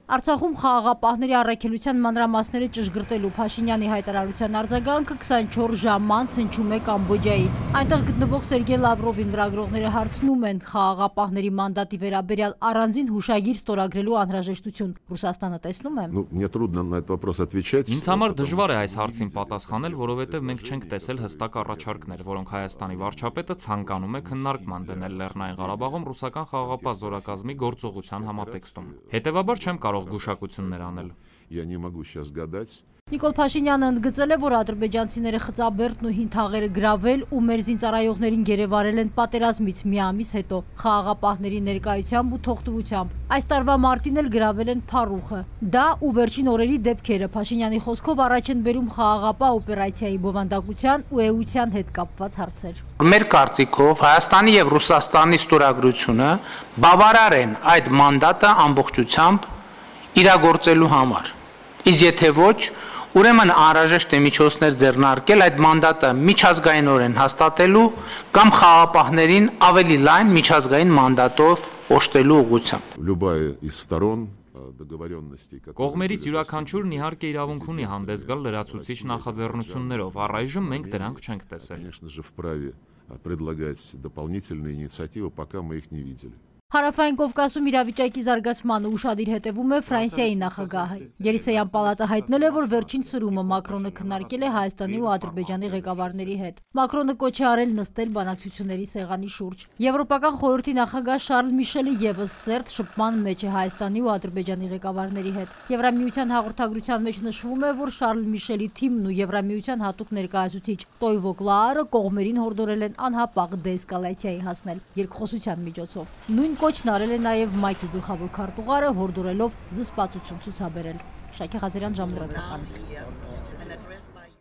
Արցախում խաղաղապահների առաքելության մանրամասները ճշգրտելու Փաշինյանի հայտարարության արձագանքը 24 ժամ անց հնչում է Կամբոջայից։ Այնտեղ գտնվող Սերգեյ Լավրովին լրագրողները հարցնում են խաղաղապահների մանդատի վերաբերյալ առանձին հուշագիր ստորագրելու անհրաժեշտություն Ռուսաստանը տեսնում է։ Ինձ համար դժվար է այս հարցին պատասխանել, որովհետև մենք չենք տեսել հստակ առաջարկներ, որոնք Հայաստանի վարչապետը ցանկանում է քննարկման դնել Լեռնային Ղարաբաղում ռուսական խաղաղապահ զորակազմի գործողության համատեքստում։ Հետևաբար չեմ կարող գուշակություններ անել։ Նիկոլ Փաշինյանը ընդգծել է, որ ադրբեջանցիները խծաբերդն ու հին թաղերը գրավել ու մեր զինծառայողներին գերեվարել են պատերազմից մի ամիս հետո խաղաղապահների ներկայությամբ ու թողտվությամբ։ Այս տարվա մարտին էլ գրավել են Փարուխը։ Դա ու վերջին օրերի դեպքերը Փաշինյանի խոսքով առաջ են բերում խաղաղապահ օպերացիայի բովանդակության ու էության հետ կապված հարցեր։ Մեր կարծիքով Հայաստանի եւ Ռուսաստանի ստորագրությունը բավարար են այդ մանդատը ամբողջությամբ իրագործելու համար։ Իսկ եթե ոչ, ուրեմն անհրաժեշտ է միջոցներ ձեռնարկել այդ մանդատը միջազգայինորեն հաստատելու կամ խաղաղապահներին ավելի լայն միջազգային մանդատով օժտելու ուղղությամբ։ Կողմերից յուրաքանչյուրն իհարկե իրավունք ունի հանդես գալ լրացուցիչ նախաձեռնություններով, առայժմ մենք դրանք չենք տեսել։ Հարավային Կովկասում իրավիճակի զարգացմանը ուշադիր հետևում է Ֆրանսիայի նախագահը։ Ելիսեյան պալատը հայտնել է, որ վերջին սրումը Մակրոնը քննարկել է Հայաստանի ու Ադրբեջանի ղեկավարների հետ։ Մակրոնը կոչ է արել նստել բանակցությունների սեղանի շուրջ։ Եվրոպական խորհրդի նախագահ Շարլ Միշելը եւս սերտ շփման մեջ է Հայաստանի ու Ադրբեջանի ղեկավարների հետ։ Եվրամիության հաղորդագրության մեջ նշվում է, որ Շարլ Միշելի թիմն ու Եվրամիության հատուկ ներկայացուցիչ Տոյվո Կլաարը կողմերին հորդորել են անհապաղ դեէսկալացիայի հասնել երկխոսության միջոցով։ Նույն կոչն արել է նաև ՄԱԿ-ի գլխավոր քարտուղարը, հորդորելով զսպվածություն ցուցաբերել։ Շակե Ղազարյան, Ժամլրատական։